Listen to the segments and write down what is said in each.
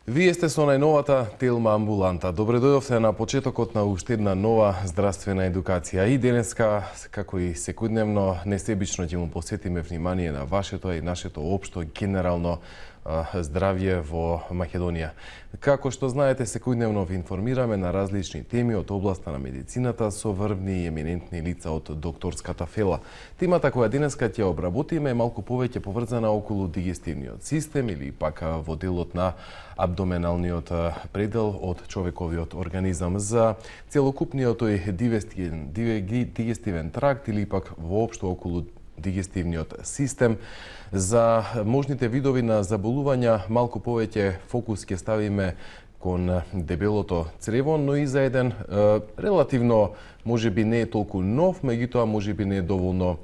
Вие сте со најновата Телма амбуланта. Добре дојдовте на почетокот на уште една нова здравствена едукација. И денеска, како и секојдневно, несебично ќе му посветиме внимание на вашето и нашето општо генерално здравје во Македонија. Како што знаете, секојдневно ви информираме на различни теми од областа на медицината со врвни и еминентни лица од докторската фела. Темата која денеска ќе обработиме е малку повеќе поврзана околу дигестивниот систем или пак во делот на абдоменалниот предел од човековиот организам, за целокупниот тој дигестивен тракт или пак воопшто околу дигестивниот систем. За можните видови на заболувања малку повеќе фокус ќе ставиме кон дебелото црево, но и за еден релативно, можеби не е толку нов, меѓутоа можеби не е доволно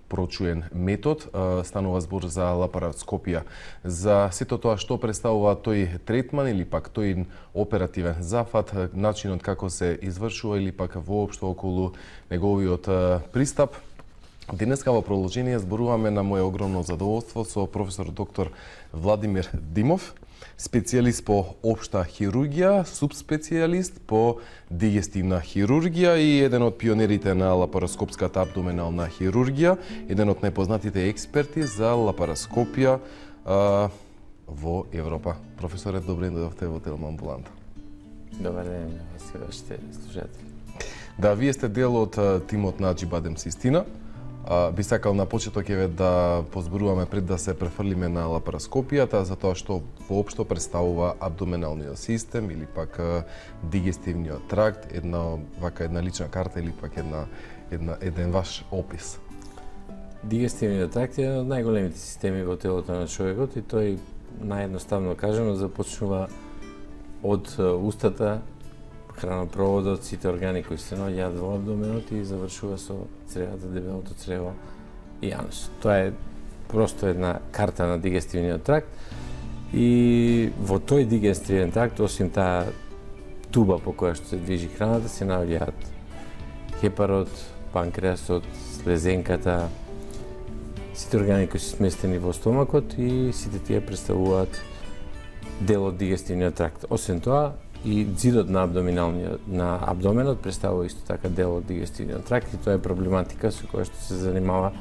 прочуен метод. Станува збор за лапароскопија. За сето тоа што представува тој третман или пак тој оперативен зафат, начинот како се извршува или пак воопшто околу неговиот пристап. Денеска во продолжение зборуваме на моје огромно задоволство со професор доктор Владимир Димов, специјалист по општа хирургија, субспецијалист по дигестивна хирургија и еден од пионерите на лапароскопската абдоменална хирургија, еден од најпознатите експерти за лапароскопија во Европа. Професоре, добре дојдовте во Телма амбуланта. Добар ден, се вашите слушатели. Да, вие сте дел од тимот на Аџибадем Систина. Би сакал на почеток да позборуваме пред да се префрлиме на лапароскопијата, затоа што воопшто представува абдоменалниот систем или пак дигестивниот тракт, една лична карта или пак еден ваш опис. Дигестивниот тракт е еден од најголемите системи во телото на човекот и тој, наједноставно кажано, започнува од устата, хранопроводот, сите органи кои се наоѓаат во абдоменот и завршува со цревата, дебелото црево и анус. Тоа е просто една карта на дигестивниот тракт и во тој дигестивен тракт, осим таа туба по која што се движи храната, се наоѓаат хепарот, панкреасот, слезенката, сите органи кои се сместени во стомакот и сите тие представуваат дел од дигестивниот тракт. Освен тоа, и ѕидот на абдоменот представува исто така дел од дигестивниот тракт и тоа е проблематика со која што се занимава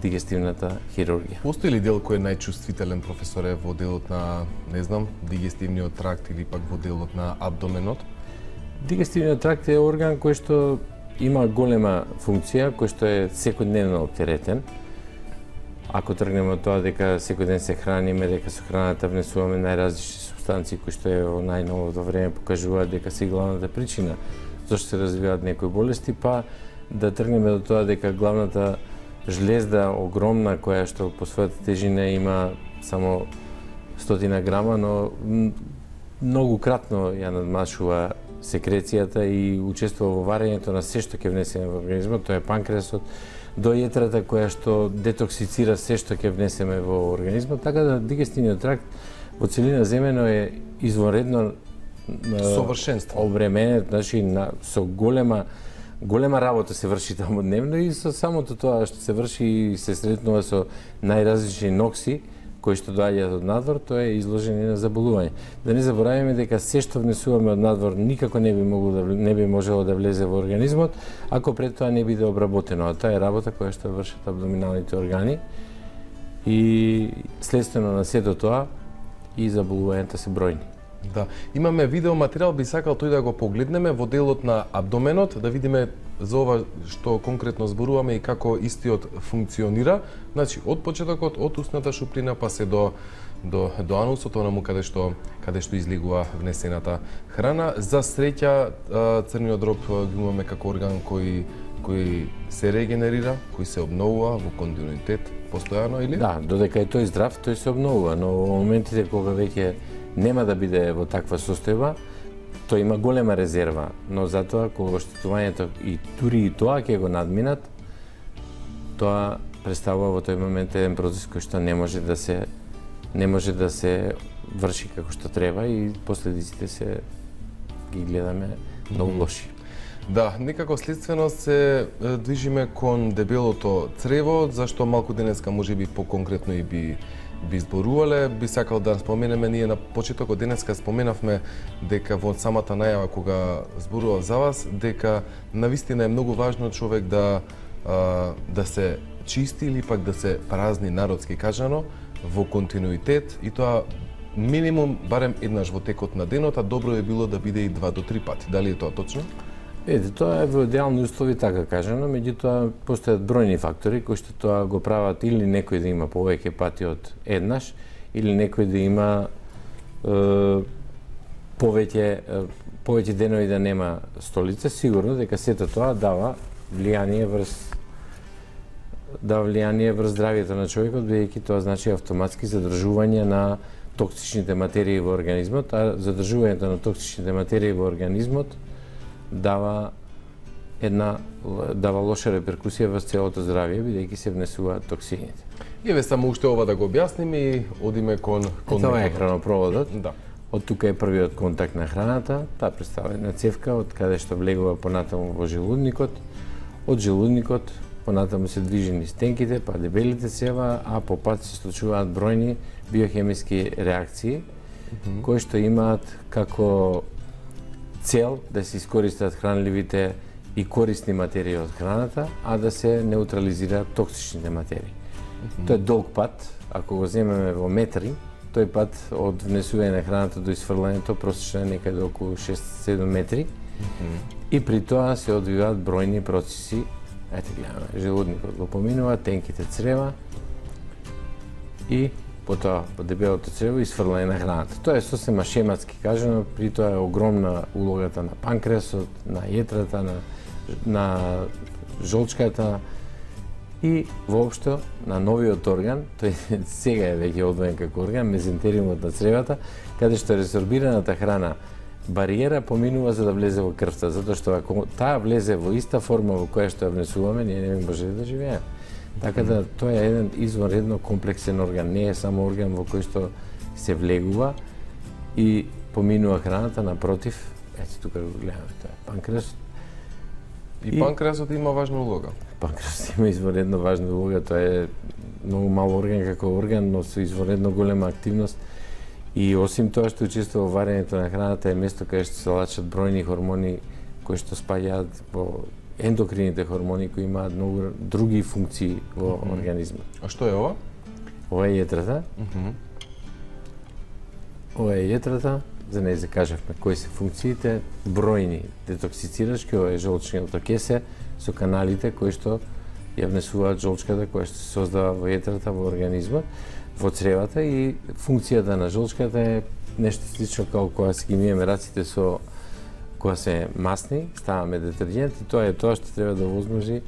дигестивната хирургија. Постои ли дел кој е најчувствителен, професоре, во делот на, дигестивниот тракт или пак во делот на абдоменот? Дигестивниот тракт е орган кој што има голема функција, кој што е секојдневно оптеретен. Ако тргнеме од тоа дека секој ден се храниме, дека со храната внесуваме најразлични субстанции кои што е во најновото време покажуваат дека се главната причина зашто се развиваат некои болести, па да тргнеме до тоа дека главната жлезда огромна која што по својата тежина има само 100 грама, но многу кратно ја надмашува секрецијата и учествува во варењето на се што ќе внесеме во организмот, тоа е панкреасот, до јетрата која што детоксицира се што ќе внесеме во организмот, така да дигестивниот тракт во целина земено е извонредно совршенство обременет, значи со голема работа се врши таму дневно и со самото тоа што се врши и се сретнува со најразлични нокси кои што доаѓаат од надвор, тоа е изложени на заболување. Да не забораваме дека се што внесуваме од надвор никако не би можело да влезе во организмот ако пред тоа не биде обработено. А тоа е работа која што вршат абдоминалните органи и следствено на сето тоа и заболувањата се бројни. Да, имаме видео материјал, би сакал тој да го погледнеме во делот на абдоменот, да видиме за ова што конкретно зборуваме и како истиот функционира. Значи, од почетокот, од устната шуприна па се до анусот, онаму каде што излегува внесената храна. За среќа, црниот дроб го имаме како орган кој се регенерира, кој се обновува во континуитет постојано, или? Да, додека е тој здрав, тој се обновува, но во моментите кога веќе нема да биде во таква состојба, тој има голема резерва, но затоа кога оштетувањето и дури и тоа ќе го надминат, тоа представува во тој момент еден процес кој што не може да се врши како што треба и последиците се ги гледаме многу лоши. Да, некако следствено се движиме кон дебелото црево, зашто малку денеска можеби поконкретно и би зборувале. Би сакал да споменеме, ние на почетокот денеска споменавме дека во самата најава кога зборував за вас, дека навистина е многу важно човек да се чисти или пак да се празни, народски кажано, во континуитет, и тоа минимум барем еднаш во текот на денот, а добро е било да биде и 2 до 3 пати. Дали е тоа точно? Тоа е во идеални услови, така кажано, меѓутоа постојат бројни фактори кои што тоа го прават или некој да има повеќе пати од еднаш, или некој да има повеќе денови да нема столица. Сигурно дека сето тоа дава влијание врз здравието на човекот, бидејќи тоа значи автоматски задржување на токсичните материи во организмот, а задржувањето на токсичните материи во организмот дава лоша реперкусија во целото здравје, бидејќи се внесуваат токсините. Еве само уште ова да го објасниме и одиме кон Тоа е хранопроводот. Да. Од тука е првиот контакт на храната, таа представува една цевка од каде што влегува понатаму во желудникот. Од желудникот понатаму се движи низ тенките, па дебелите цева, а по пат се случуваат бројни биохемиски реакции кои што имаат како цел да се искористат хранливите и корисни материи од храната, а да се неутрализираат токсичните материи. Тоа е долг пат, ако го земеме во метри, тој пат од внесување на храната до исфрлањето просечно е некаде околу 6-7 метри. И при тоа се одвиваат бројни процеси. Ете гледаме, желудникот го поминува, тенките црева и потоа по дебелото црево исфрлање на храната. Тоа е сосема шематски кажано, при тоа е огромна улогата на панкреасот, на јетрата, на жолчката и воопшто на новиот орган, тој сега е веќе одвоен како орган, мезентериумот на цревата, каде што резорбираната храна бариера поминува за да влезе во крвта, затоа што ако таа влезе во иста форма во која што ја внесуваме, ние не би можеле да живееме. Така да тоа е еден извонредно комплексен орган, не е само орган во кој што се влегува и поминува храната, напротив, ете тука го гледаме, тоа е панкреасот. И панкреасот има важна улога. Панкреасот има извонредно важна улога, тоа е многу мал орган како орган, но со извонредно голема активност. И осим тоа што учествува во варењето на храната е место каде што се лачат бројни хормони кои што спаѓаат во ендокрините хормони кои имаат многу други функции во организмот. А што е ова? Ова е јетрата. Ова е јетрата, за неја закажавме кои се функциите, бројни детоксицирачки, ова е жолчното кесе со каналите кои што ја внесуваат жолчката која што се создава во јетрата во организмот, во цревата, и функцијата на жолчката е нешто слично како кога си ги миеме раците со кога се масни, ставаме детержент и тоа е тоа што треба да возможи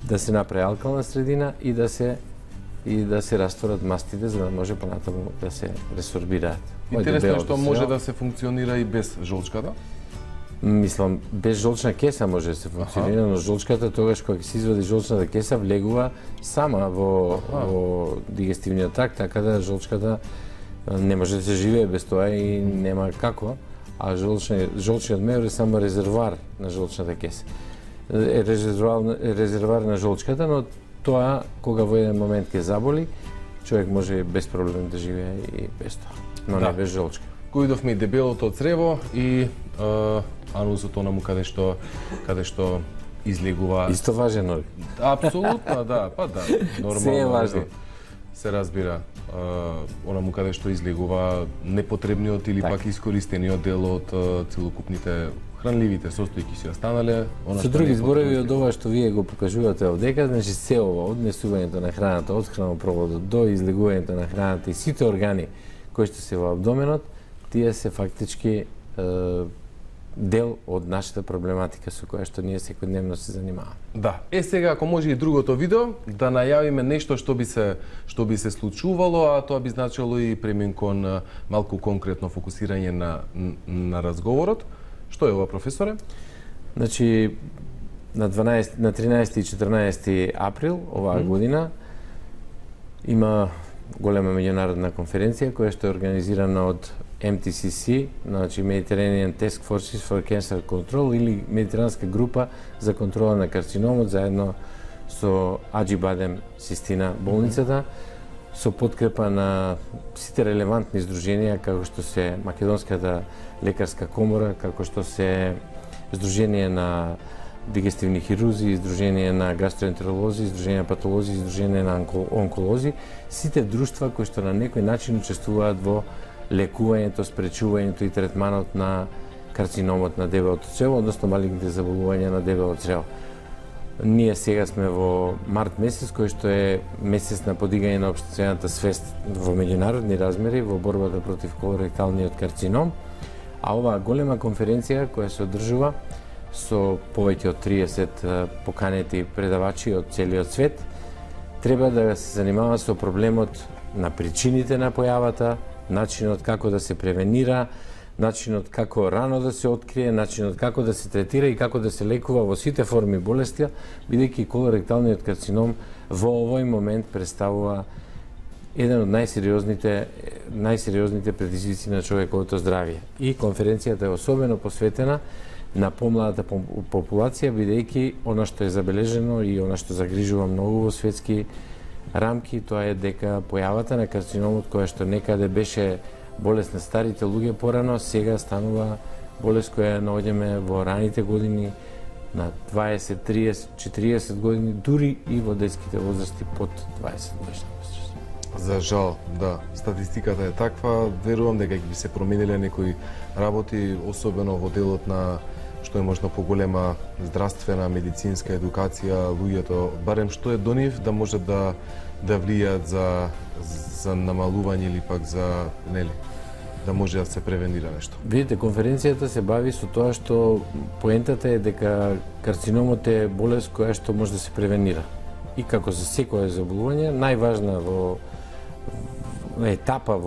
да се направи алкална средина и да се растворат мастите за да може понатаму да се ресорбираат. Интересно е што може да се функционира и без жолчката? Мислам, без жолчна кеса може да се функционира, но жолчката тогаш кога се извади жолчната кеса влегува сама во дигестивниот тракт, така да жолчката не може да се живее без тоа и нема како, а жолчниот меор е само резервоар на жолчната кеса. Е резервоар на жолчката, но тоа кога во еден момент ќе заболи, човек може без проблем да живее и без тоа, но не без жолчка. Коидовме и дебелото црево и анусот онаму каде што излегува. Исто важен орган. Апсолутно, да, па да. Нормално. Се е важно. Се разбира. Онаму каде што излегува непотребниот или пак искористениот дел од целокупните хранливите состојки си останале. Со други зборови, од ова што вие го покажувате овдека, значи се ова, од внесувањето на храната, од хранопроводот до излегувањето на храната и сите органи кои што се во абдоменот, тие се фактички дел од нашата проблематика со која што ние секојдневно се занимаваме. Да. Сега ако може и другото видео да најавиме нешто што би се случувало, а тоа би значило и премин кон малку конкретно фокусирање на разговорот. Што е ова, професоре? Значи на 13 и 14 април оваа година има голема меѓународна конференција која што е организирана од MTCC, значи Mediterranean Task Forces for Cancer Control или Медитеранска група за контрола на карциномот заедно со Аџи Бадем Систина болницата, со подкрепа на сите релевантни здруженија, како што се Македонската лекарска комора, како што се Здружение на дигестивни хирузи, Здружение на гастроентеролози, Здружение на патолози, Здружение на онколози, сите друштва кои што на некој начин учествуваат во лекувањето, спречувањето и третманот на карциномот на дебелото црево, односно малигните заболувања на дебелото црево. Ние сега сме во март месец, кој што е месец на подигање на општествената свест во меѓународни размери во борбата против колоректалниот карцином, а оваа голема конференција која се одржува со повеќе од 30 поканети предавачи од целиот свет, треба да се занимава со проблемот на причините на појавата, начинот како да се превенира, начинот како рано да се открие, начинот како да се третира и како да се лекува во сите форми болести, бидејќи колоректалниот карцином во овој момент представува еден од најсериозните предизвици на човековото здравје. И конференцијата е особено посветена на помладата популација, бидејќи она што е забележено и она што загрижува многу во светски рамки, тоа е дека појавата на карциномот, која што некаде беше болест на старите луѓе порано, сега станува болест која наоѓаме во раните години на 20, 30, 40 години, дури и во детските возрасти под 20 годишна возраст. За жал, да, статистиката е таква. Верувам дека ќе се промениле некои работи, особено во делот на што е можно поголема здравствена, медицинска едукација, луѓето, барем што е до нив, да може да влијаат за намалување или пак за, нели, да може да се превенира нешто. Видите, конференцијата се бави со тоа што поентата е дека карциномот е болест која што може да се превенира. И како за секое заболување, најважна етапа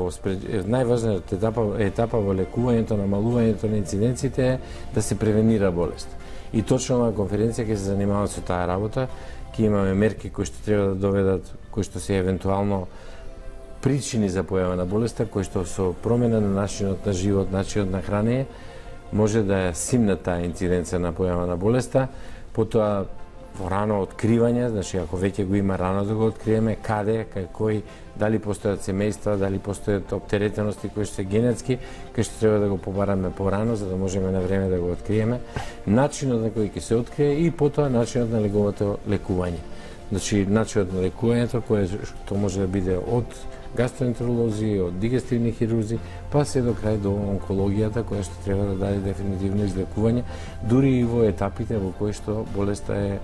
во лекувањето, намалувањето на инциденците е да се превенира болест. И точно оваа конференција ќе се занимава со таа работа, ќе имаме мерки кои што треба да доведат, кои што се евентуално причини за појава на болеста, кои што со промена на начинот на живот, начинот на хранење, може да ја симна таа инциденција на појава на болеста, потоа во рано откривање, значи ако веќе го има рано да го откриеме, каде, кај кој, дали постојат семејства, дали постојат оптеретености кои што се генетски, кај што треба да го побараме порано за да можеме на време да го откриеме, начинот на кој ќе се открие и потоа начинот на неговото лекување. Значи начинот на лекувањето кое што може да биде од гастроентеролози, од дигестивни хирузи, па се до крај до онкологијата која што треба да даде дефинитивно излекување, дури и во етапите во кои што болеста е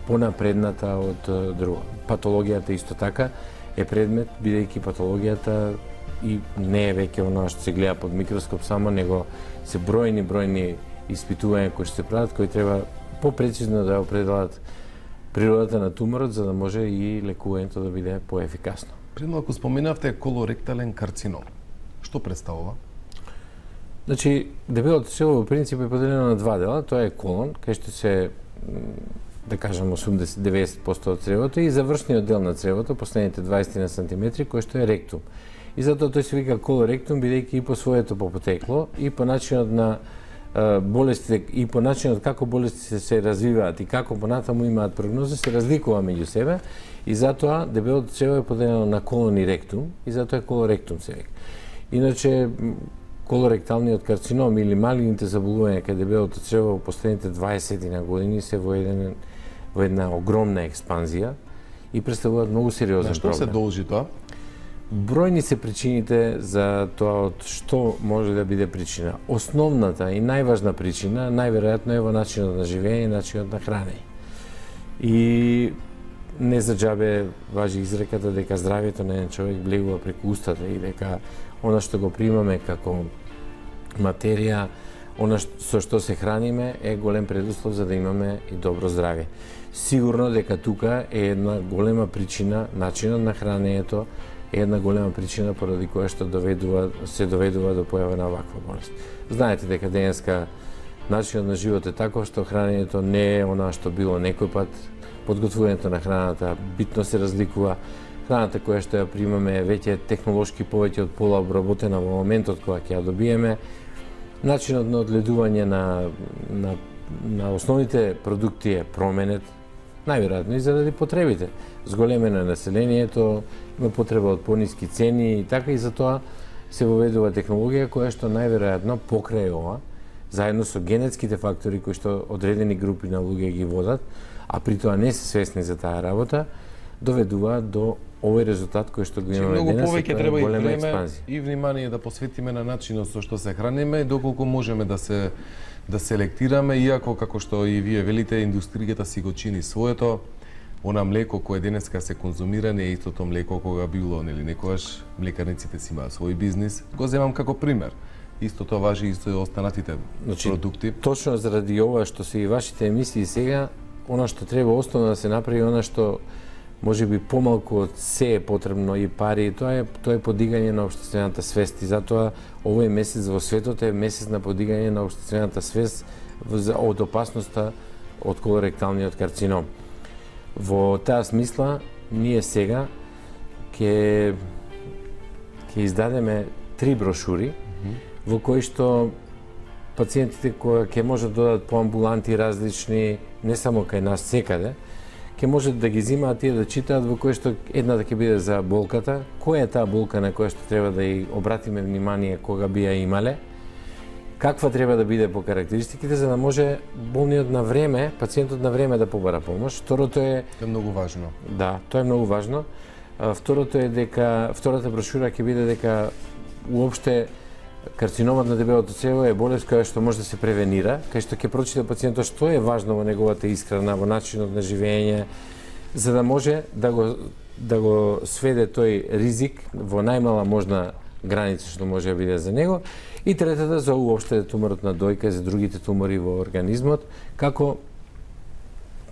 понапредната од друго. Патологијата исто така е предмет, бидејќи патологијата и не е веќе оно што се гледа под микроскоп само, него се бројни испитувања кои што се прават, кои треба попрецизно да определат природата на туморот за да може и лекувањето да биде поефикасно. Пред малку споменавте колоректален карцином. Што представува? Значи, дебелото црево во принцип е поделено на два дела, тоа е колон, кај што се да кажам 80-90% од цревото и завршниот дел на цревото, последните 20 на сантиметри, кој што е ректум. И затоа тој се вика колоректум, бидејќи и по своето потекло, и по начинот на болестите, и по начинот како болестите се развиваат и како понатаму имаат прогноза, се разликува меѓу себе, и затоа дебелото црево е поделено на колон и ректум, и затоа е колоректум се вика. Иначе, колоректалниот карцином или малигните заболувања кај дебелото црево во последните 20 на години се во една огромна експанзија и представуваат многу сериозен проблем. На што се должи тоа? Бројни се причините за тоа од што може да биде причина. Основната и најважна причина најверојатно е во начинот на живење и начинот на хранење. И не за џабе важи изреката дека здравјето на еден човек влегува преку устата и дека она што го примаме како материја, она со што се храниме е голем предуслов за да имаме и добро здравје. Сигурно дека тука е една голема причина, начинот на хранењето е една голема причина поради која што се доведува до појава на оваква болест. Знаете дека денеска начинот на живот е таков што хранењето не е она што било некој пат, подготвувањето на храната битно се разликува. Храната која што ја примаме е веќе технолошки повеќе од пола обработена во моментот кога ќе ја добиеме. Начинот на одледување на основните продукти е променет најверојатно и заради потребите. Зголемено е населението, има потреба од пониски цени и така, и затоа се воведува технологија која што најверојатно покрај ова, заедно со генетските фактори кои што одредени групи на луѓе ги водат, а при тоа не се свесни за таа работа, доведува до овој резултат кој што го имаме денес. Многу повеќе треба и време експанзија и внимание да посветиме на начинот со што се храниме, доколку можеме да селектираме, иако како што и вие велите, индустријата си го чини своето. Она млеко кое денеска се конзумира не е истото млеко кога било, нели, некогаш млекарниците си имаат свој бизнис. Го земам како пример. Истото важи и со останатите продукти. Точно заради ова што се и вашите емисии сега, она што треба основно да се направи, она што може би помалку од се е потребно и пари, тоа е подигање на општествената свест, и затоа овој месец во светот е месец на подигање на општествената свест од опасноста од колоректалниот карцином. Во таа смисла, ние сега ќе издадеме 3 брошури во кои што пациентите кои ќе можат да додат по амбуланти различни, не само кај нас секаде, ќе можат да ги зимаат и да читаат, во кои што едната ќе биде за болката, која е таа болка на која што треба да ја обратиме внимание кога би ја имале, каква треба да биде по карактеристиките, за да може болниот на време, пациентот на време да побара помош. Второто е многу важно. Да, тоа е многу важно. Второто е дека втората брошура ќе биде дека уопште карциномот на дебелото црево е болест која што може да се превенира, кај што ќе прочита пациентот што е важно во неговата исхрана, во начинот на живење, за да може да го сведе тој ризик во најмала можна граница што може да биде за него. И третата за уопште туморот на дојка, за другите тумори во организмот, како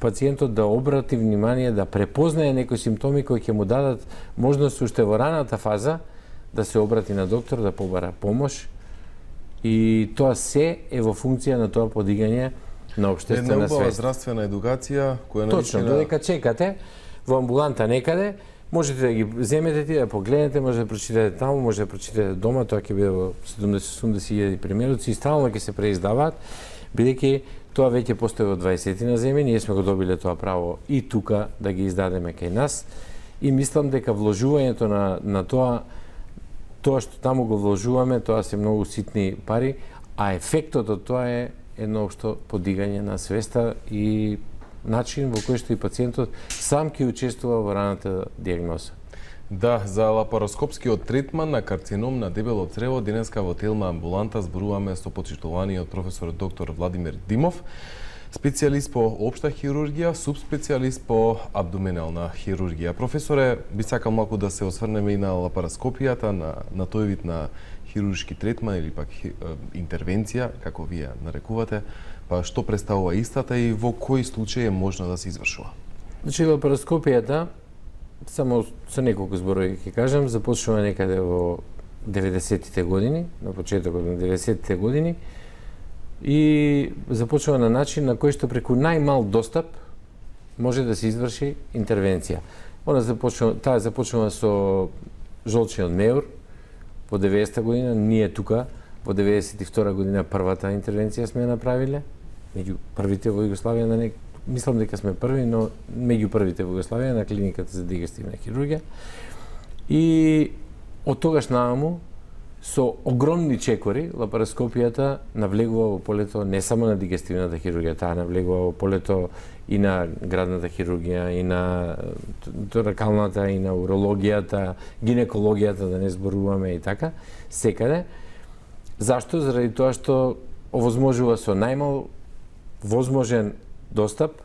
пациентот да обрати внимание, да препознае некои симптоми кои ќе му дадат можност уште во раната фаза да се обрати на доктор, да побара помош, и тоа се е во функција на тоа подигање на општествена свест. Една здравствена едукација која Точно, додека чекате во амбуланта некаде, можете да ги земете ти, да погледнете, може да прочитате таму, може да прочитате дома, тоа ќе биде во 70.000 примеруци и стално ќе се преиздаваат, бидејќи тоа веќе постои во 20 земји, ние сме го добиле тоа право и тука да ги издадеме кај нас, и мислам дека вложувањето на тоа што таму го вложуваме, тоа се многу ситни пари, а ефектот од тоа е едно општо подигање на свеста и начин во кој што и пациентот сам ќе учествува во раната дијагноза. Да, за лапароскопскиот третман на карцином на дебело црево денеска во Телма амбуланта зборуваме со почитуваниот професор доктор Владимир Димов, специјалист по општа хирургија, субспецијалист по абдоменална хирургија. Професоре, би сакал малку да се осврнеме и на лапароскопијата, на тој вид на хируршки третман или пак интервенција, како вие нарекувате, па што представува истата и во кои случаи е можно да се извршува? Значи, лапароскопијата, само со неколку зборови ќе кажам, започнува некаде во 90-тите години, на почетокот на 90-тите години, и започнува на начин на кој што преку најмал достап може да се изврши интервенција. Таа започнува со жолчниот меур во 90-та година, ние тука во 92-та година првата интервенција сме направиле, меѓу првите во Југославија, мислам дека сме први, но меѓу првите во Југославија на клиниката за дигестивна хирургија. И од тогаш нааму, со огромни чекори, лапароскопијата навлегува во полето не само на дигестивната хирургија, таа навлегува во полето и на градната хирургија, и на торакалната, и на урологијата, гинекологијата, да не зборуваме и така, секаде. Зашто? Заради тоа што овозможува со најмал возможен достап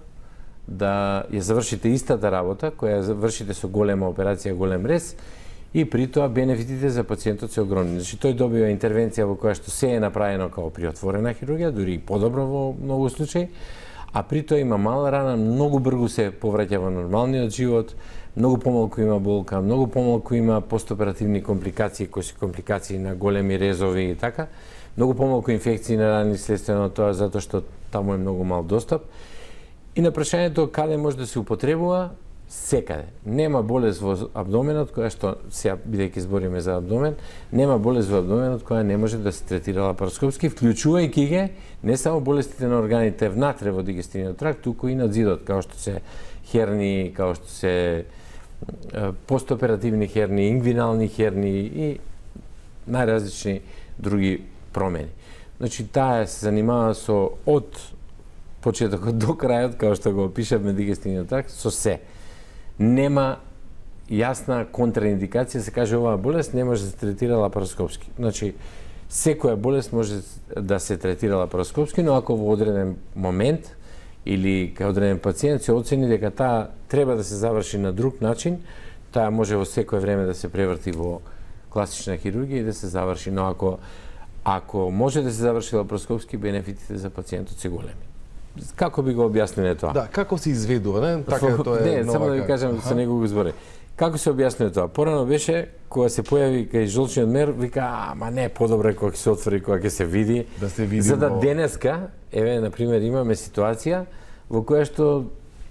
да ја завршите истата работа, која ја вршите со голема операција, голем рез, и при тоа бенефитите за пациентот се огромни. Значи, тој добива интервенција во која што се е направено како при отворена хирургија, дури и подобро во многу случаи, а при тоа има мала рана, многу брзо се повраќа во нормалниот живот, многу помалку има болка, многу помалку има постоперативни компликации, кои се компликации на големи резови и така, многу помалку инфекции на рани следствено тоа, затоа што таму е многу мал достап. И на прашањето каде може да се употребува, секаде. Нема болест во абдоменот која што, сега бидејќи збориме за абдомен, нема болест во абдоменот која не може да се третира лапароскопски, вклучувајќи ги не само болестите на органите внатре во дигестивниот тракт, туку и на зидот, како што се херни, као што се постоперативни херни, ингвинални херни и најразлични други промени. Значи, таа се занимава со од почетокот до крајот, као што го опишавме дигестивниот тракт, со се. Нема јасна контраиндикација, се каже оваа болест не може да се третира лапароскопски. Значи, секоја болест може да се третира лапароскопски, но ако во одреден момент или кај одреден пациент се оцени дека таа треба да се заврши на друг начин, таа може во секое време да се преврти во класична хирургија и да се заврши, но ако може да се заврши лапароскопски, бенефитите за пациентот се големи. Како би го објасниле тоа? Да, како се изведува, не? Така тоа е. Не, само да ви кажам со него го збори. Како се објаснува тоа? Порано беше кога се појави кај жолчниот мер, вика, ама не, подобро е кога ќе се отвори, кога ќе се види. Да се види. За да денеска, еве на пример имаме ситуација во која што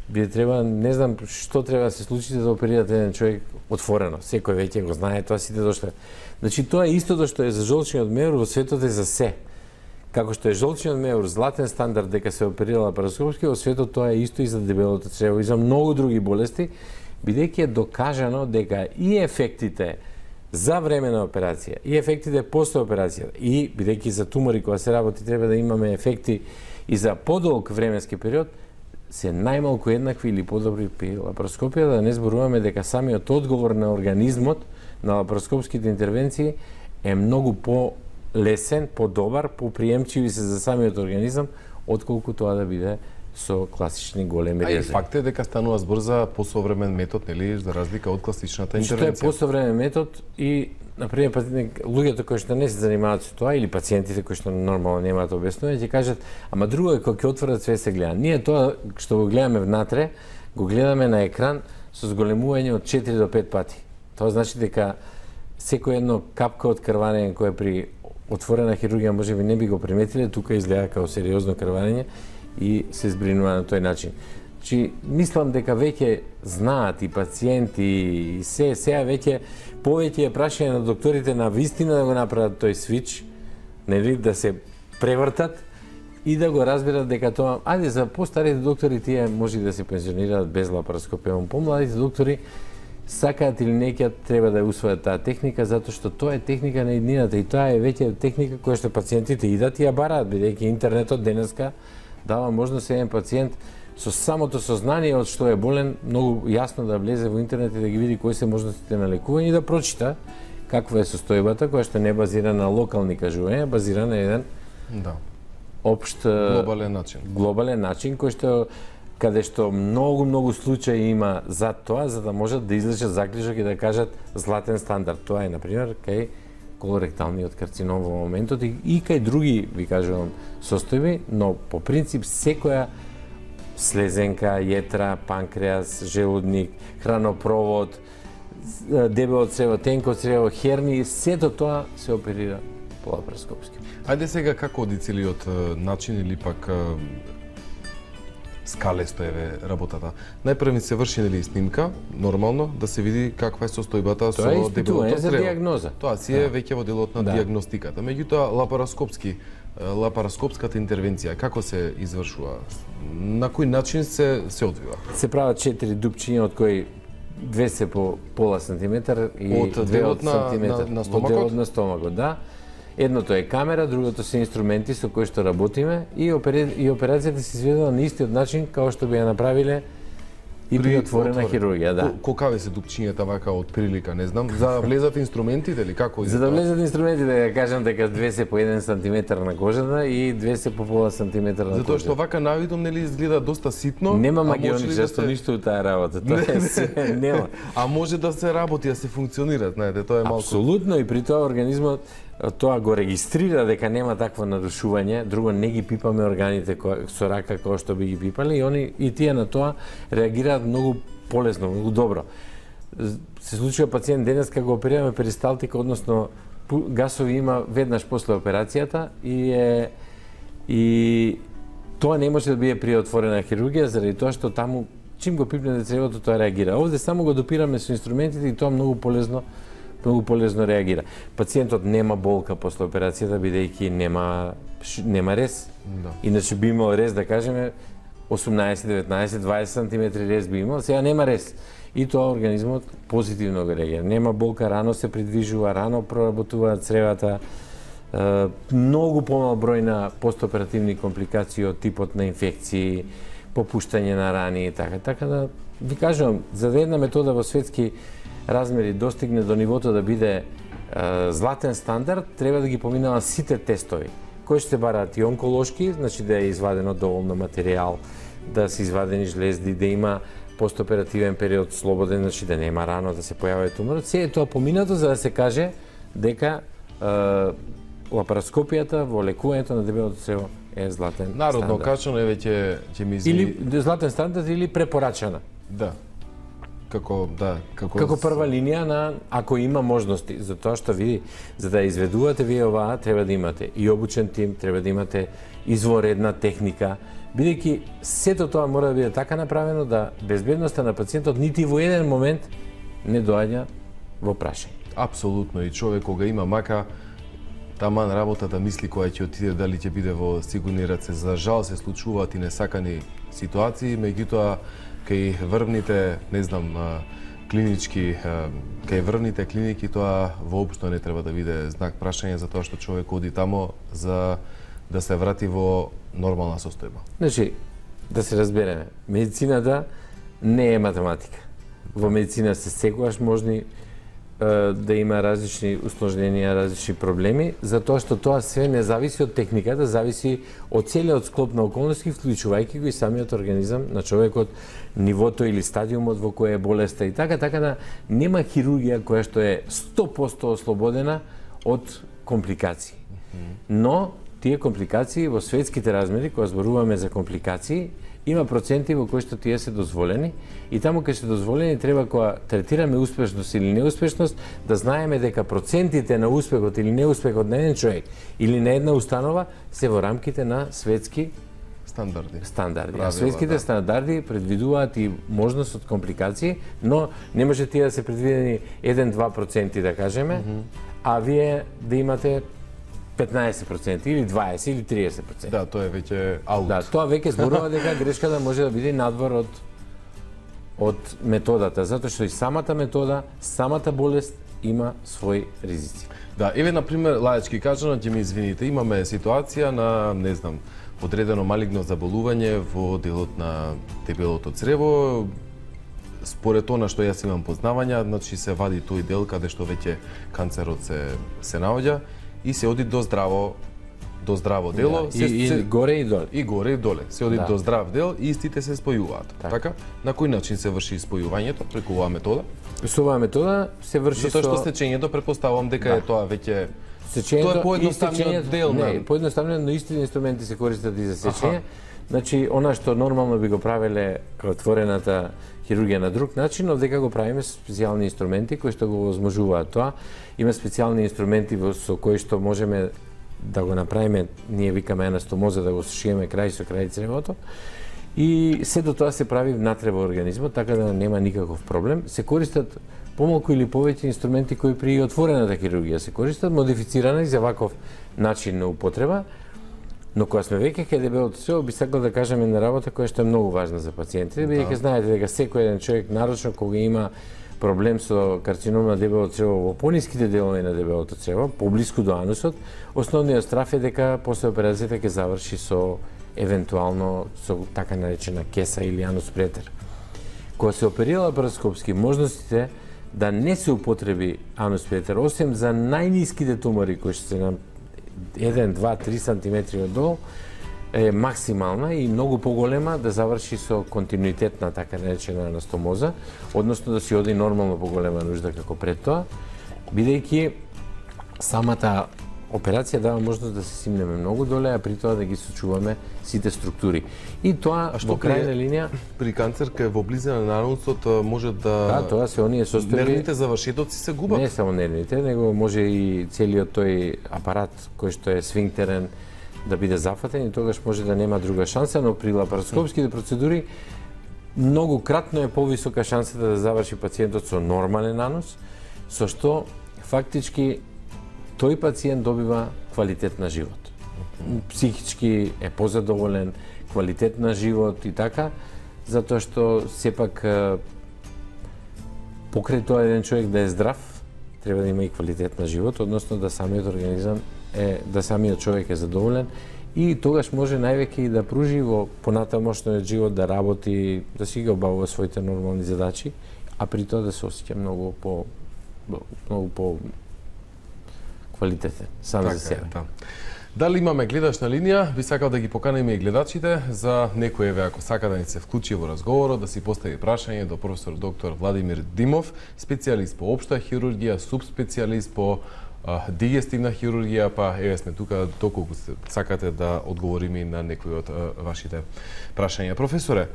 би треба, не знам што треба да се случи да оперирате еден човек отворено. Секој веќе го знае, тоа сите дошле. Значи тоа е истото што е за жолчниот мер, во светот е за се. Како што е жолчниот меур златен стандард дека се оперира лапароскопски, во светот тоа е исто и за дебелото црево и за многу други болести, бидејќи е докажано дека и ефектите за време на операција, и ефектите после операција, и бидејќи за тумори кога се работи треба да имаме ефекти и за подолг временски период, се најмалку еднакви или подобри при лапароскопија, да не зборуваме дека самиот одговор на организмот на лапароскопските интервенции е многу по-лесен, по-добар, поприемчиви се за самиот организам, отколку тоа да биде со класични големи резерви. А и факт е дека станува збор за посовремен метод, нели, за разлика од класичната интервенција. Што е посовремен метод и например луѓето кои што не се занимаваат со тоа или пациентите кои што нормално немаат објаснување ќе кажат, ама друго е кога ќе отворат све се гледа. Ние тоа што го гледаме внатре, го гледаме на екран со зголемување од 4 до 5 пати. Тоа значи дека секој едно капка од крварење кое при отворена хирургија можеби не би го приметиле, тука изгледа како сериозно крварење и се збринува на тој начин. Значи, мислам дека веќе знаат и пациенти и сега веќе повеќе е прашање на докторите на вистина да го направат тој свич, нели, да се превртат и да го разберат дека тоа, ајде за постарите доктори тие може да се пензионираат без лапароскопија, помладите доктори сакаат или не ќе треба да ја усвојат таа техника затоа што тоа е техника на иднината и тоа е веќе техника која што пациентите идат и ја бараат, бидејќи интернетот денеска дава можност еден пациент со самото сознание од што е болен, многу јасно да влезе во интернет и да ги види кои се можностите на лекување и да прочита каква е состојбата, која што не е базирана на локални кажувања, базирана на еден општ глобален начин кој што каде што многу случаи има за тоа, за да можат да излечат заклучок и да кажат златен стандард. Тоа е, например, кај колоректалниот карцином во моментот и кај други, ви кажувам, состојби, но по принцип секоја слезенка, јетра, панкреас, желудник, хранопровод, дебело црево, тенко црево, херни, сето тоа се оперира по лапароскопски. Ајде сега како оди целиот начин или пак скалесто е работата. Најпрво се врши нели снимка, нормално, да се види каква е состојбата со дебелото црево. Тоа е за диагноза. Тоа си е веќе во делот на диагностиката. Меѓутоа, лапароскопската интервенција, како се извршува? На кој начин се одвива? Се прават 4 дупчиња, од кои 2 се по пола сантиметар и 2 од сантиметар. На стомакот? Од делот на стомакот, да. Едното е камера, другото се инструменти со кои што работиме и операцијата се изведува на истиот начин како што би ја направиле и при отворена хирургија, да. Колкаве се дупчињата вака од прилика, не знам, за да влезат инструментите или како? За да влезат инструментите, да кажам дека 2 се по 1 сантиметар на кожата и 2 се по пола сантиметар на кожата. Затоа што вака навидом нели изгледа доста ситно. Нема магионичарство ништо у таа работа, тоа е се, нема. А може да се работи, да се функционира, знаете, тоа е малку. Апсолутно, и при тоа организмот тоа го регистрира дека нема такво нарушување, друго не ги пипаме органите со рака како што би ги пипали и тие на тоа реагираат многу полесно, многу добро. Се случува пациент денес кога го оперираме перисталтика, односно гасови има веднаш после операцијата и тоа не може да биде при отворена хирургија заради тоа што таму чим го пипнете цревото тоа реагира. Овде само го допираме со инструментите и тоа многу полезно реагира. Пациентот нема болка после операцијата бидејќи нема рез. Да. Иначе би имал рез, да кажеме, 18, 19, 20 сантиметри рез би имал, сега нема рез. И тоа организмот позитивно го реагира. Нема болка, рано се придвижува, рано проработуваат цревата, многу помал број на постоперативни компликации од типот на инфекции, попуштање на рани и така. Така да ви кажувам, за да една метода во светски размери достигне до нивото да биде златен стандард, треба да ги поминава сите тестови, кои ще се бараат и онколошки, значи да е извадено доволно материјал, да се извадени жлезди, да има постоперативен период слободен, значи да нема рано да се појавува туморот. Се е тоа поминато за да се каже дека лапароскопијата во лекувањето на дебелото црево е златен Народно стандард. качано, еве ќе ми извини. Или златен стандард или препорачана. Да. Како Како прва линија на ако има можности, за тоа што види, за да изведувате вие оваа, треба да имате и обучен тим, треба да имате изворедна техника, бидејќи сето тоа мора да биде така направено да безбедноста на пациентот нити во еден момент не доаѓа во прашање. Апсолутно, и човек кога има мака, таман работа да мисли која ќе отиде, дали ќе биде во сигурни раце. За жал се случуваат и несакани ситуации, меѓутоа кај врвните, не знам, клинички, кај врвните клиники тоа воопшто не треба да биде знак прашање за тоа што човек оди тамо за да се врати во нормална состојба. Значи, да се разбереме, медицината не е математика. Во медицина се секогаш можни да има различни усложненија, различни проблеми, затоа што тоа све не зависи од техниката, зависи од целиот склоп на околности, вклучувајќи го и самиот организам на човекот, нивото или стадиумот во кој е болеста и така да нема хирургија која што е 100% ослободена од компликации. Но тие компликации во светските размери, кога зборуваме за компликации, има проценти во кои што тие се дозволени и таму кај се дозволени треба кога третираме успешност или неуспешност да знаеме дека процентите на успехот или неуспехот на еден човек или на една установа се во рамките на светски стандарди. А светските стандарди предвидуваат и можност од компликации, но не може тие да се предвидени 1-2% да кажеме, а вие да имате 15% или 20% или 30%. Да, тоа е веќе аут. Да, тоа веќе зборува дека грешката може да биде надвор од методата, затоа што и самата метода, самата болест има своји ризици. Да, еве на пример лаечки кажано, ќе ми извините, имаме ситуација на, не знам, одредено малигно заболување во делот на дебелото црево. Според она што јас имам познавања, значи се вади тој дел каде што веќе канцерот се наоѓа и се оди до здраво дело, и горе и доле. И горе и доле. Се оди до здрав дел и истите се спојуваат. Така? На кој начин се врши спојувањето преку оваа метода? Со оваа метода се врши затоа што сечењето претпоставувам дека е тоа веќе сечењето, тоа е поедноставниот дел. Не, поедноставниот, но исти инструменти се користат и за сечење. Значи, она што нормално би го правеле отворената хирургија на друг начин, овдека го правиме специјални инструменти кои што го возможуваат тоа. Има специјални инструменти со кои што можеме да го направиме, ние викаме анастомоза, да го сушиеме крај со крај цревото. И се до тоа се прави внатре во организмот, така да нема никаков проблем. Се користат помалку или повеќе инструменти кои при отворената хирургија се користат, модифицирани за ваков начин на употреба. Но кога сме веќе кај дебелото црево, би сакал да кажеме една работа која што е многу важна за пациентите, бидејќи знаете дека секој еден човек, нарочно кога има проблем со карцином на дебелото црево во пониските делови на дебелото црево, поблиску до анусот, основниот страф е дека после операцијата ќе заврши со евентуално со така наречена кеса или анус претер. Кога се оперира лапароскопски, можностите да не се употреби анус претер, освен за најниските тумори кои што се на 1, 2, 3 сантиметри оддолу, е максимална и многу поголема да заврши со континуитет на така наречена анастомоза, односно да си оди нормално поголема нужда како пред тоа, бидејќи самата операција дава можност да се симнеме многу доле, а при тоа да ги сочуваме сите структури. И тоа во крајна линија при канцер кај во близина на анусот може да тоа се оние состојби. Нервните завршетоци се губат. Не само нервните, него може и целиот тој апарат кој што е сфинктерен да биде зафатен и тогаш може да нема друга шанса, но при лапароскопските процедури многу кратно е повисока шансата да заврши пациентот со нормален анус, со што фактички тој пациент добива квалитет на живот. Психички е позадоволен, квалитет на живот и така, затоа што сепак покрај тоа еден човек да е здрав, треба да има и квалитет на живот, односно да самиот организам да самиот човек е задоволен и тогаш може највеќе и да пружи во понатамошниот живот, да работи, да си ги обавува своите нормални задачи, а при тоа да се осеќа многу по квалитетен сам за себе. Да. Дали имаме гледач на линија? Би сакал да ги поканеме и гледачите за некој еве ако сака да ни се вклучи во разговорот, да си постави прашање до професор доктор Владимир Димов, специјалист по општа хирургија, субспецијалист по дигестивна хирургија, па еве сме тука доколку сакате да одговориме на некои од вашите прашања. Професоре,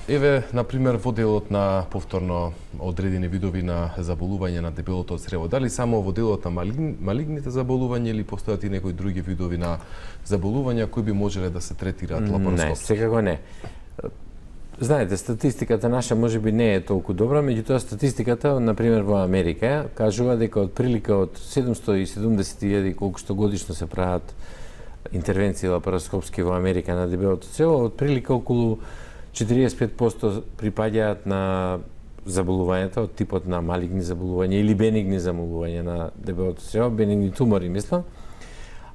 еве, например, во делот на повторно одредени видови на заболување на дебелото црево, дали само во делот на малигните заболувања или постојат и некои други видови на заболувања кои би можеле да се третираат лапароскопски? Не, секако не. Знаете, статистиката наша можеби не е толку добра, меѓутоа статистиката, например во Америка, кажува дека од прилика од 770.000 колку што годишно се прават интервенции лапароскопски во Америка на дебелото црево, од прилика околу 45% припаѓаат на заболувањата од типот на малигни заболувања или бенигни заболувања на дебелото црево, бенигни тумори, мислам,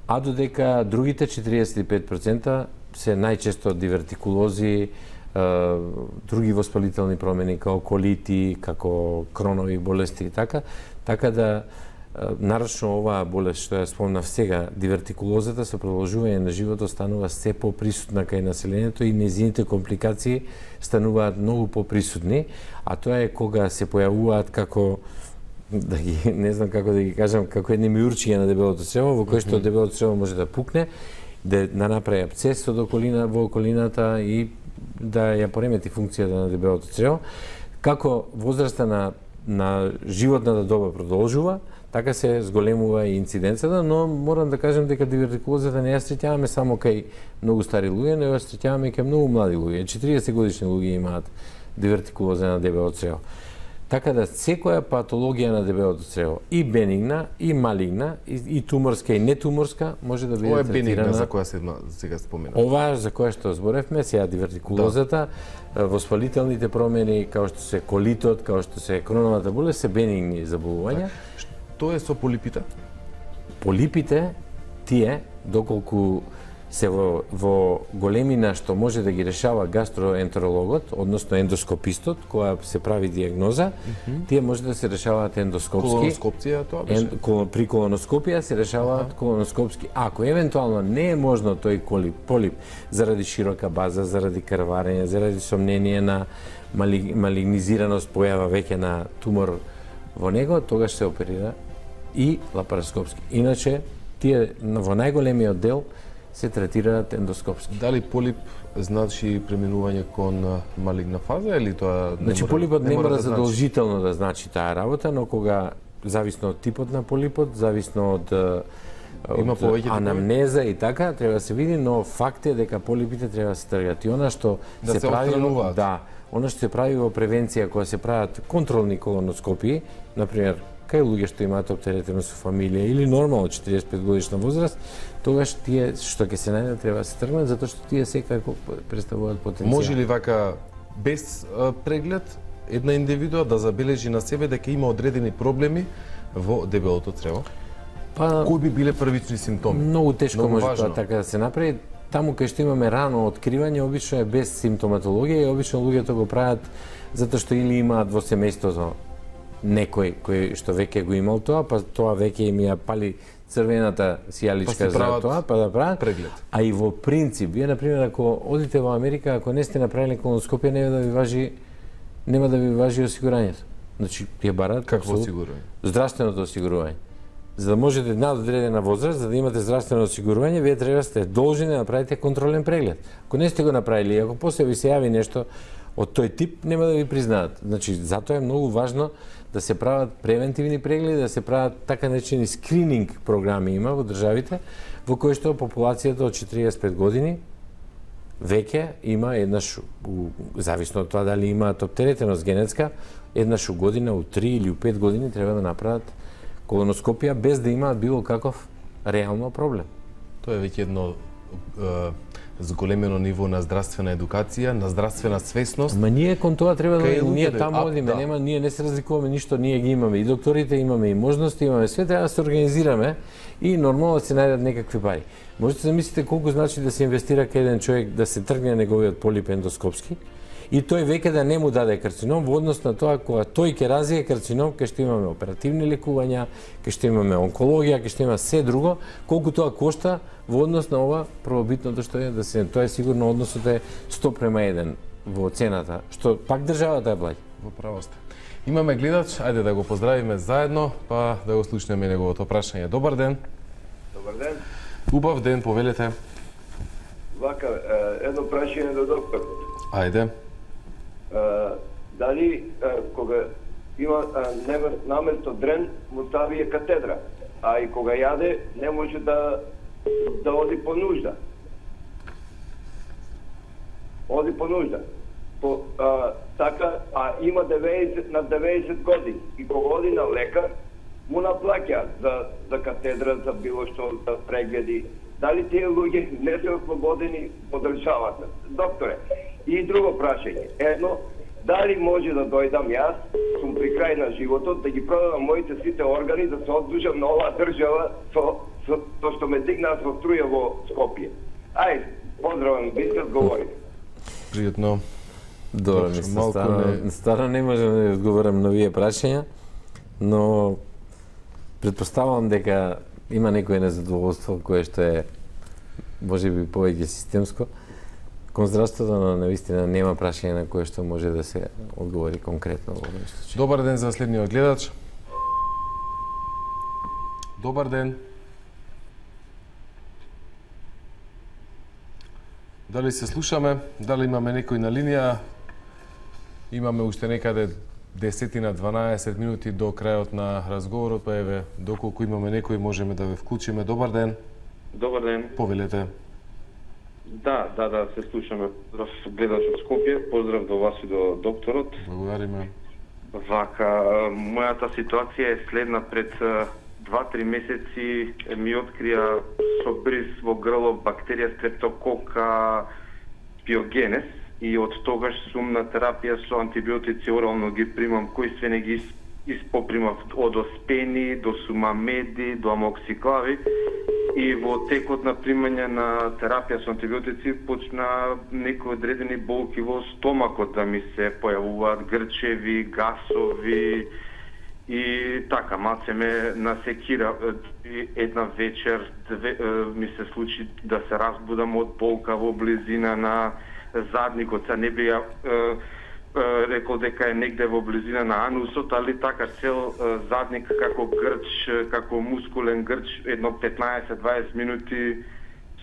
а додека другите 45% се најчесто дивертикулози, други воспалителни промени, како колити, како кронови болести и така да нарочно оваа болест што ја спомнав сега, дивертикулозата со продолжување на животот станува се поприсутна кај населението и нејзините компликации стануваат многу поприсутни, а тоа е кога се појавуваат како не знам како да ги кажам, како едни миурчиња на дебелото црево, во кој што дебелото црево може да пукне, да направи абсцес во околината и да ја поремети функцијата на дебелото црево. Како возраста на животната доба продолжува, така се зголемува и инциденцата, но морам да кажем дека дивертикулозата не ја среќаваме само кај многу стари луѓе, но ја среќаваме кај многу млади луѓе. 40 годишни луѓе имаат дивертикулоза на дебелото црево. Така да секоја патологија на дебелото црево, и бенигна, и малигна, и туморска, и нетуморска, може да биде третирана. Ова е бенигна за која сега спомена. Ова за која што зборевме, сега дивертикулозата, воспалителните промени, као што се колитот, као што се кроновата болест, се бенигни заболувања. Тоа е со полипите? Полипите, тие, доколку се во големина што може да ги решава гастроентерологот, односно ендоскопистот, која се прави диагноза, тие може да се решаваат ендоскопски. Колоноскопција тоа беше? При колоноскопија се решаваат колоноскопски. Ако евентуално не е можно тој полип заради широка база, заради крварење, заради сомнение на малигнизираност, појава веќе на тумор во него, тогаш се оперира и лапароскопски. Иначе, тие во најголемиот дел се третираат ендоскопски. Дали полип значи преминување кон малигна фаза или тоа не значи, полипот не мора задолжително да значи таа работа, но кога зависно од типот на полипот, зависно од анамнеза и така, треба да се види, но факт е дека полипите треба да се тргат. И она што се прави, она што се прави во превенција, кога се прават контролни колоноскопии, например, кај луѓе што имаат оптеретеност со фамилија или нормално 45 годишна возраст, тогаш тие што ќе се најдат треба да се тргнат, затоа што тие секако представуваат потенцијал. Може ли вака без преглед една индивидуа да забележи на себе дека има одредени проблеми во дебелото црево? Кои би биле првични симптоми? Многу тешко може тоа така да се направи. Таму кај што имаме рано откривање, обично е без симптоматологија и обично луѓето го прават затоа што или имаат во семејството некој кој што веќе го имал тоа, па тоа веќе им ја пали црвената сијаличка за тоа, па да прават преглед. А и во принцип, вие например ако одите во Америка, ако не сте направиле колоноскопија, нема да ви важи осигурањето. Значи, тие бараат какво осигурање? Здравственото осигурување. За да можете над одредена возраст, за да имате здравствено осигурување, вие треба сте должни да направите контролен преглед. Ако не сте го направили, ако после ви се јави нешто од тој тип, нема да ви признаат. Значи, затоа е многу важно да се прават превентивни прегледи, да се прават така наречени скрининг програми има во државите, во кои што популацијата од 45 години веќе има еднаш, зависно од тоа дали имаат оптеретеност генетска, еднаш у година, у 3 или у 5 години треба да направат колоноскопија без да имаат било каков реално проблем. Тоа е веќе едно зголемено ниво на здравствена едукација, на здравствена свесност. Ма ние кон тоа треба да Кај ние луѓето, таму одиме, да. нема, ние не се разликуваме ништо, ние ги имаме и докторите, имаме и можности, имаме све, треба да се организираме и нормално да се најдат некакви пари. Можете да мислите колку значи да се инвестира кај еден човек да се тргне неговиот полип ендоскопски и тој веќе да не му даде карцином во однос на тоа кога тој ќе развие карцином, ќе што имаме оперативни лекувања, ќе што имаме онкологија, ќе што има се друго, колку тоа кошта во однос на ова првобитното што е да се тоа е сигурно односот е 1:1 во цената, што пак државата ја плаќа. Во право сте. Имаме гледач, ајде да го поздравиме заедно, па да го слушнеме неговото прашање. Добар ден. Добар ден. Убав ден, повелете. Вака, едно прашање до доктор. Ајде. Дали кога има наместо дрен му ставија катедра, а и кога јаде не може да оди по нужда. Оди по нужда. Така, а има 90 години и кога оди на лекар му наплаќа за катедра, за било што, за прегледи. Дали тие луѓе не се ослободени од државата? Докторе, и друго прашање. Едно, дали може да дојдам јас, сум при крај на животот, да ги продадам моите сите органи, да се оддужам на оваа држава со што ме дигнаа со струја во Скопје. Ај, поздравам, ви се одговорите. Пријатно. Добро, мислам, старо не можам да одговорам на овие прашања, но претпоставувам дека има некое незадоволство кое што е можеби повеќе системско кон здравството, но навистина нема прашање на кое што може да се одговори конкретно во овој случај. Добар ден за следниот гледач. Добар ден. Дали се слушаме? Дали имаме некој на линија? Имаме уште некаде 10-12 минути до крајот на разговорот, па еве, доколку имаме некој можеме да ве вклучиме. Добар ден. Добар ден. Повелете. Да, се слушаме. Поздрав гледач од Скопје, поздрав до вас и до докторот. Благодариме. Вака, мојата ситуација е следна. Пред 2-3 месеци ми открија со бриз во грло бактерија Streptococcus pyogenes и од тогаш сум на терапија со антибиотици, орално ги примам, кои све не ги испопримав од оспени до сумамеди, до амоксиклави. И во текот на примање на терапија со антибиотици почна некои одредени болки во стомакот да ми се појавуваат, грчеви, гасови и така, малце ме насекира. Една вечер ми се случи да се разбудам од болка во близина на задникот. Са не би рекол дека е негде во близина на анусот, али така цел задник како грч, како мускулен грч, едно 15-20 минути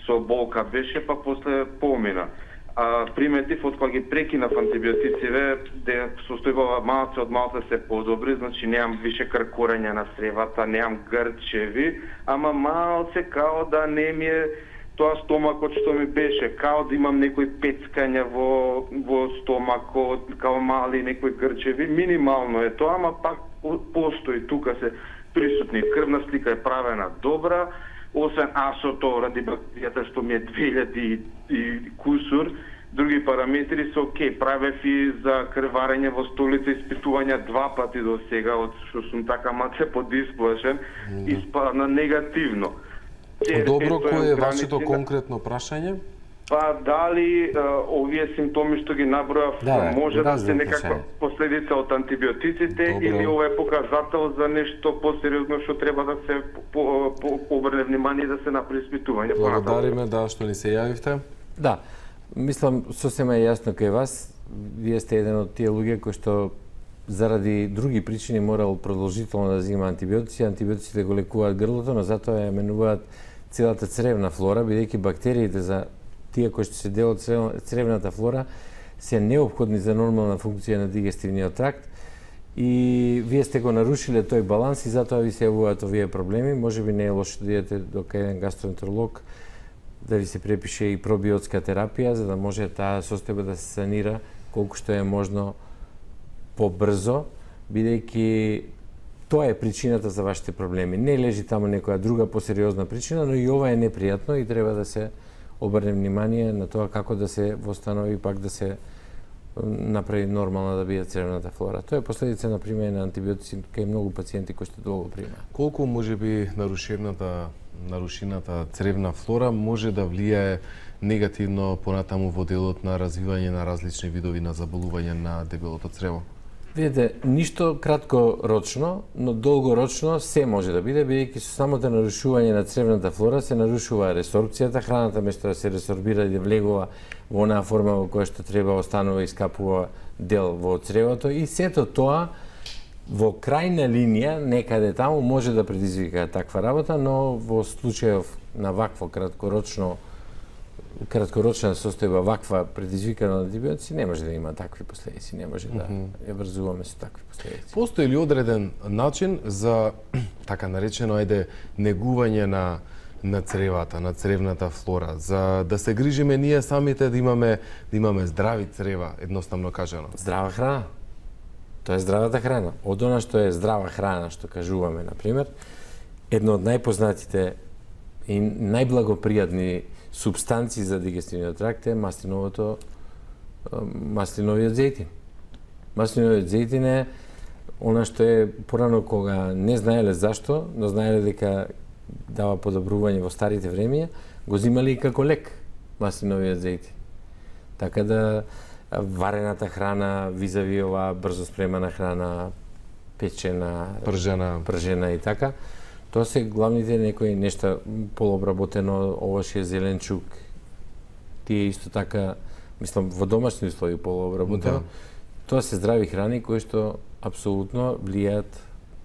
со болка беше, па после помина. Приметив од кога ги прекинав антибиотициве, де состојбава малце од малце се подобри, значи неам више кркорење на сревата, неам грчеви, ама малце као да не ми е тоа стомакот што ми беше, као да имам некои пецкања во стомакот, као мали некои грчеви, минимално е тоа, ама пак постои, тука се присутни. Крвна слика е правена добра, освен асото ради бактеријата што ми е 2000 и кусур, други параметри се окей. Правев и за крварење во столица испитувања 2 пати до сега, од што сум така малце подисплашен, испадна негативно. Добро, кој е вашето конкретно прашање? Па дали овие симптоми што ги набројав може да се некаква последица од антибиотиците или ова е показател за нешто посериозно што треба да се обрне внимание и да се направи испитување? Благодариме што ни се јавивте. Да, мислам сосема е јасно кај вас. Вие сте еден од тие луѓе кои што заради други причини морал продолжително да зема антибиотици. Антибиотиците го лекуваат грлото, но затоа ја менуваат целата цревна флора, бидејќи бактериите за тие кои што се дел од цревната флора се неопходни за нормална функција на дигестивниот тракт и вие сте го нарушиле тој баланс и затоа ви се јавуваат овие проблеми. Можеби не е лошо да идете до еден гастроентеролог да ви се препише и пробиотска терапија, за да може таа состојба да се санира колку што е можно побрзо, бидејќи тоа е причината за вашите проблеми. Не лежи таму некоја друга посериозна причина, но и ова е непријатно и треба да се обрне внимание на тоа како да се восстанови, пак да се направи нормална да биде цревната флора. Тоа е последица, например, на антибиотици кај многу пациенти кои што долго примаат. Колку можеби нарушената цревна флора може да влијае негативно понатаму во делот на развивање на различни видови на заболување на дебелото црево? Видете, ништо краткорочно, но долгорочно се може да биде, бидејќи со самото нарушување на цревната флора се нарушува ресорбцијата, храната место да се ресорбира и да влегува во онаа форма во која што треба, останува и скапува дел во цревото и сето тоа во крајна линија, некаде таму, може да предизвика таква работа, но во случајов на вакво краткорочна состојба, ваква предизвикана од антибиотици, не може да има такви последици, не може да ја врзуваме со такви последици. Постои ли одреден начин за така наречено негување на цревата, на цревната флора, за да се грижиме ние самите да имаме здрави црева, едноставно кажано? Здрава храна. Тоа е здравата храна. Од она што е здрава храна, што кажуваме, например, едно од најпознатите и најблагопријатни субстанции за дигестивниот тракт е маслиновиот зејтин. Маслиновиот зејтин е она што е порано кога не знаеле зашто, но знаеле дека дава подобрување во старите времења, го земале и како лек маслиновиот зејтин. Така да варената храна, визави оваа брзо спремана храна, печена, пржена и така, тоа се главните некои нешта, полуобработено овошје, зеленчук, тие исто така, мислам, во домашни услови полуобработено, тоа се здрави храни кои што апсолутно влијаат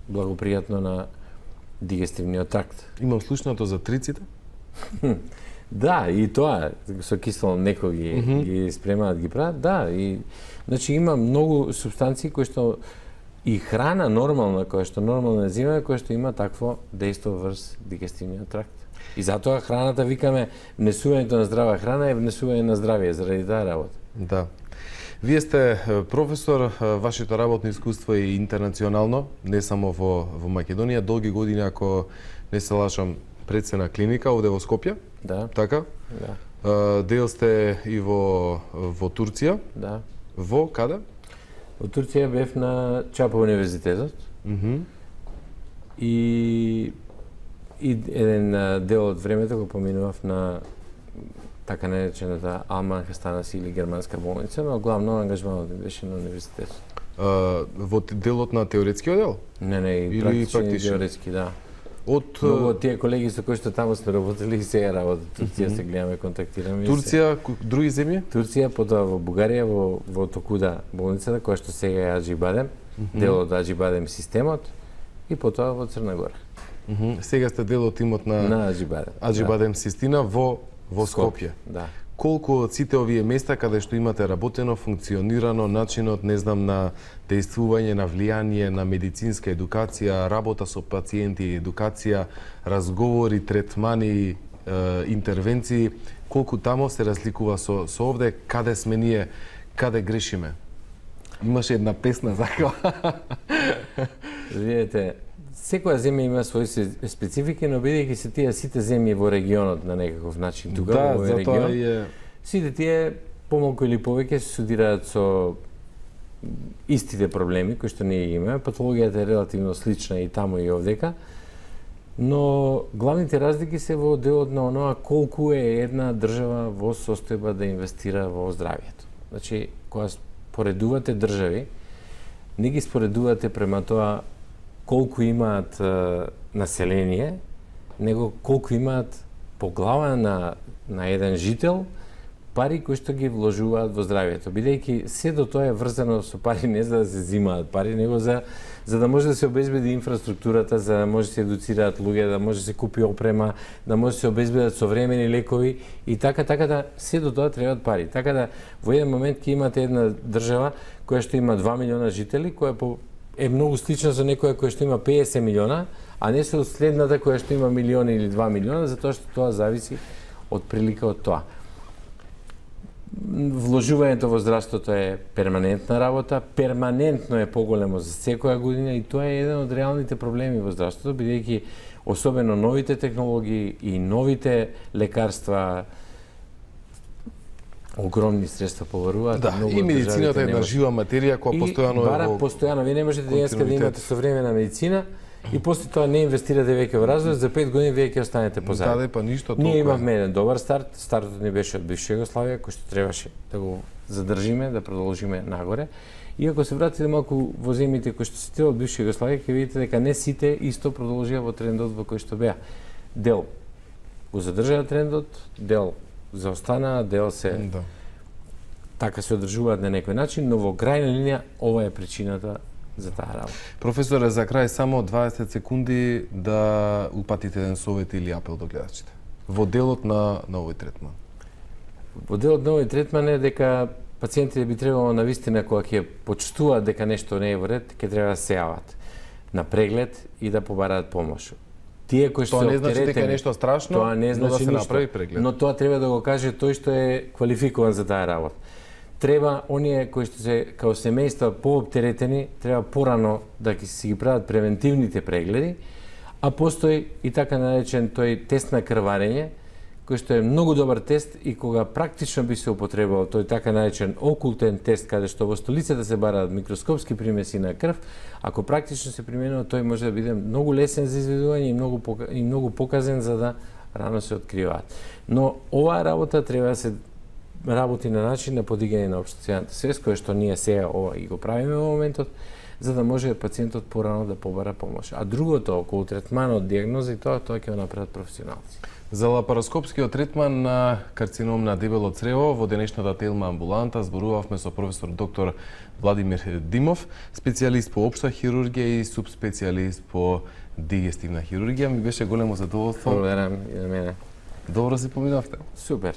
благопријатно на дигестивниот тракт. Имам слушнато за триците? Да, и тоа со кисело млеко ги спремаат, ги прават, да, и значи има многу супстанции кои што и храна нормална, која што нормално земаме, која што има такво дејство врз дигестивниот тракт. И затоа храната, викаме, внесувањето на здрава храна е внесување на здравие, заради таа работа. Да. Вие сте професор, вашето работно искуство е интернационално, не само во Македонија, долги години, ако не се лажам, предсена клиника овде во Скопје. Да. Така? Да. Дел сте и во Турција. Да. Во каде? Во Турција бев на Чапа универзитетот. И еден дел од времето го поминував на така наречената Алман Хастанаси или германска болница, но главно ангажманот ми беше на универзитетот. Во делот на теоретскиот дел? Не, и практичен и теоретски, да. Многу од тие колеги со кои што таму сме работели и сега работат. Турција се гледаме, контактираме. Турција, други земји? Турција, потоа во Бугарија, во Токуда болницата, која што сега е Аџибадем, дел од Аџибадем системот, и потоа во Црна Гора. Сега сте дел од тимот на Аџибадем систина во Скопје. Да. Колку од сите овие места каде што имате работено, функционирано, начинот, не знам, на дејствување, на влијание, на медицинска едукација, работа со пациенти, едукација, разговори, третмани, интервенции, колку тамо се разликува со овде, каде сме ние, каде грешиме? Имаше една песна закава. Видете, секоја земја има своји специфики, но бидејќи се тие сите земји во регионот на некаков начин, тука во регион, сите тие помалку или повеќе се судираат со истите проблеми кои што ние имаме. Патологијата е релативно слична и таму и овдека, но главните разлики се во делот на оноа колку е една држава во состојба да инвестира во здравието. Значи, кога споредувате држави, не ги споредувате према тоа колку имаат население, него колку имаат по глава на еден жител пари кои што ги вложуваат во здравието. Бидејќи се до тоа е врзано со пари, не за да се зимаат пари, него за да може да се обезбеди инфраструктурата, за да може да се едуцираат луѓе, да може да се купи опрема, да може да се обезбедат современи лекови и така да се до тоа требаат пари. Така да во еден момент ќе имате една држава која што има 2 милиона жители, која е многу слична со некоја која што има 50 милиона, а не со следната која што има милион или 2 милиона, затоа што тоа зависи од прилика од тоа. Вложувањето во здравството е перманентна работа, перманентно е поголемо за секоја година и тоа е еден од реалните проблеми во здравството, бидејќи особено новите технологии и новите лекарства огромни средства побаруваат. Да, и медицината е една жива материја која постојано бара постојано. Ви не можете денеска да имате современа медицина и после тоа не инвестирате веќе во развој, за 5 години веќе ќе останете позади. Да, па ништо толку. Ние имавме еден добар старт, стартот ни беше од бивша Југославија, кој што требаше да го задржиме, да продолжиме нагоре. И ако се вратите малку во земјите кои што се тие од бивша Југославија, ќе видите дека не сите исто продолжија во трендот во кој што беа. Дел го задржаа трендот, дел заостанаа, дел се така се одржуваат на некој начин, но во крајна линија ова е причината за таа работа. Професоре, за крај само 20 секунди да упатите еден совет или апел до гледачите. Во делот на овој третман. Во делот на овој третман е дека пациентите би требало навистина кога ќе почувствуваат дека нешто не е во ред, ќе треба да се јават на преглед и да побараат помош. Тие кои што тоа не значи дека е нешто страшно, тоа не значи но да се ништо, направи преглед. Но тоа треба да го каже тој што е квалификуван за таа работа. Треба оние кои што се као семејства пооптеретени, треба порано да си ги прават превентивните прегледи, а постои и така наречен тој тест на крварење, кој што е многу добар тест и кога практично би се употребувал тој така наречен окултен тест, каде што во столицата се бараат микроскопски примеси на крв, ако практично се применува, тој може да биде многу лесен за изведување и многу показен за да рано се откриваат. Но оваа работа треба да се работи на начин на подигање на општествената свест, која што ние сега ова и го правиме во моментот, за да може пациентот порано да побара помош. А другото, околу третманот, диагноза и тоа ќе го направат професионалци. За лапароскопскиот третман на карцином на дебело црево во денешната телма амбуланта зборувавме со професор доктор Владимир Димов, специјалист по општа хирургија и субспецијалист по дигестивна хирургија. Ми беше големо задоволство. Благодарам и на мене. Добро си поминавте. Супер.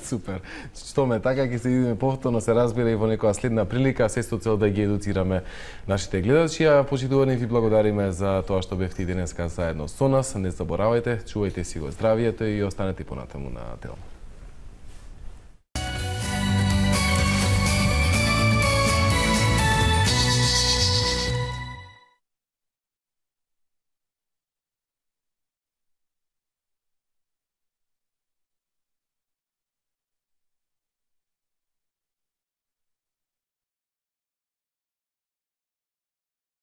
Супер. Што ме така ќе се видиме повторно, се разбира и во некоја следна прилика, се со цел да ги едуцираме нашите гледачи. А почитувани ви благодариме за тоа што бевте и денеска заедно со нас. Не заборавајте, чувајте си го здравието и останете понатаму на телма.